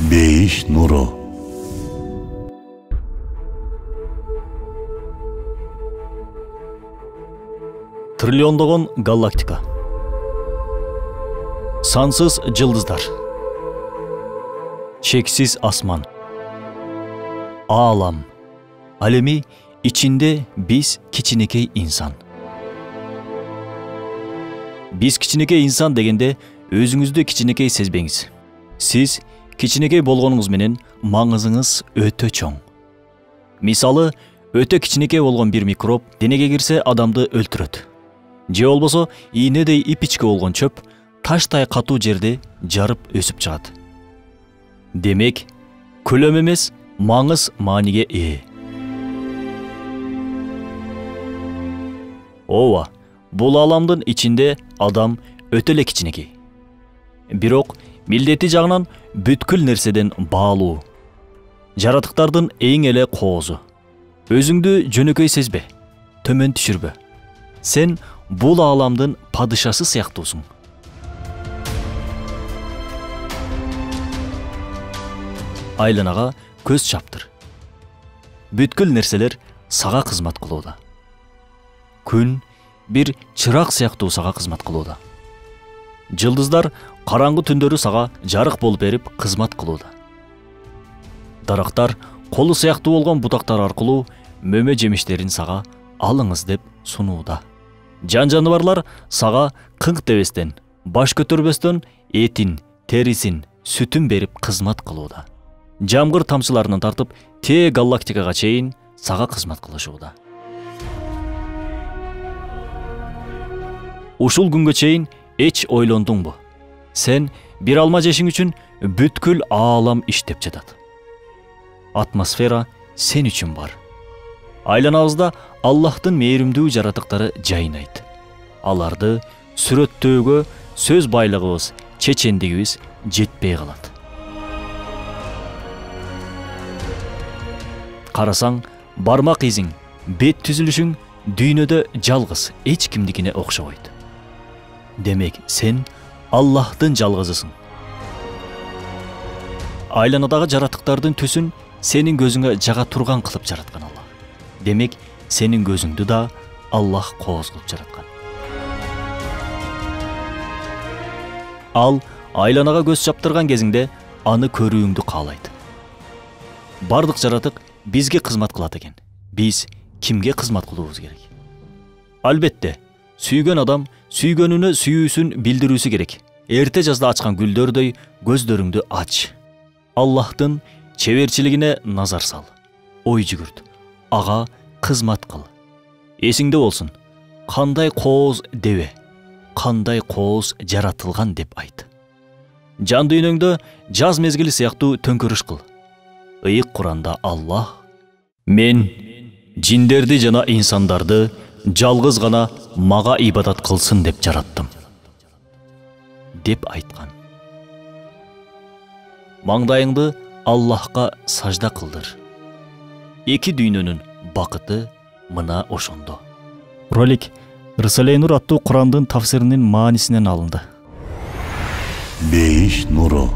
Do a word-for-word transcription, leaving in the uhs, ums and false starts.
Бейиш нуру. Триллиондогон галактика, сансыз жылдыздар, чексиз асман, аалам, ал эми ичинде биз кичинекей инсан. Биз кичинекей инсан дегенде өзүңүздү кичинекей сезбеңиз. Сиз кичинекей болгонуңуз менен маңызыңыз өтө чоң. Мисалы, өтө кичинекей болгон бир микроб денеге кирсе адамды өлтүрөт. Же болбосо ийнедей ипичке болгон чөп таштай катуу жерде жарып өсүп чыгат. Демек, көлөм эмес, маңыз мааниге ээ. Ооба, бул ааламдын ичинде адам өтө эле кичинекей. Бирок милдети жагынан бүткүл нерседен баалуу. Жаратыктардын эң эле коозу. Өзүңдү жөнөкөй сезбе, төмөн түшүрбө. Сен бул ааламдын падышасы сыяктуусуң. Айланага көз чаптыр. Бүткүл нерселер сага кызмат кылууда. Күн бир чырак сыяктуу сага кызмат кылууда. Жылдыздар караңгы түндөрү сага жарык болуп берип кызмат кылууда. Дарактар колу сыяктуу болгон бутактар аркылуу мөмө жемиштерин сага алыңыз деп сунууда. Жан жаныбарлар сага кыңк дебестен, баш көтөрбөстөн этин, терисин, сүтүн берип кызмат кылууда. Жамгыр тамчыларынан тартып, тээ галактикага чейин сага кызмат кылышууда. Ушул күнгө чейин эч ойлондуңбу? Сен бир алма жешиң үчүн бүткүл аалам иштеп жатат. Атмосфера сен үчүн бар. Айланабызда Аллахтын мээримдүү жаратыктары жайнайт. Аларды сүрөттөөгө сөз байлыгыбыз, чечендигибиз жетпей калат. Карасаң, бармак изиң, бет түзүлүшүң дүйнөдө жалгыз эч кимдикине окшобойт. Демек, сен Аллахтын жалгызысың. Айланадагы жаратыктардын түсүн сенин көзүңө жага турган кылып жараткан Аллах. Демек, сенин көзүңдү да Аллах кооз кылып жараткан. Ал айланага көз чаптырган кезиңде аны көрүүңдү каалайт. Бардык жаратык бизге кызмат кылат экен. Биз кимге кызмат кылуубуз керек? Албетте, сүйгөн адам сүйгөнүнө сүйүүсүн билдирүүсү керек. Эрте жазда ачкан гүлдөрдөй көздөрүңдү ач. Аллахтын чеберчилигине назар сал. Ой жүгүрт. Ага кызмат кыл. Эсиңде болсун. Кандай кооз дебе, кандай кооз жаратылган деп айт. Жан дүйнөңдө жаз мезгили сыяктуу төңкөрүш кыл. Ыйык Куранда Аллах: "Мен жиндерди жана инсандарды жалгыз гана мага ибадат кылсын деп жараттым" деп айткан. Маңдайыңды Аллахка сажда кылдыр. Эки дүйнөнүн бакыты мына ошондо. Ролик Рисале Нур аттуу Курандын тафсиринин маанисинен алынды. Бейиш нуру.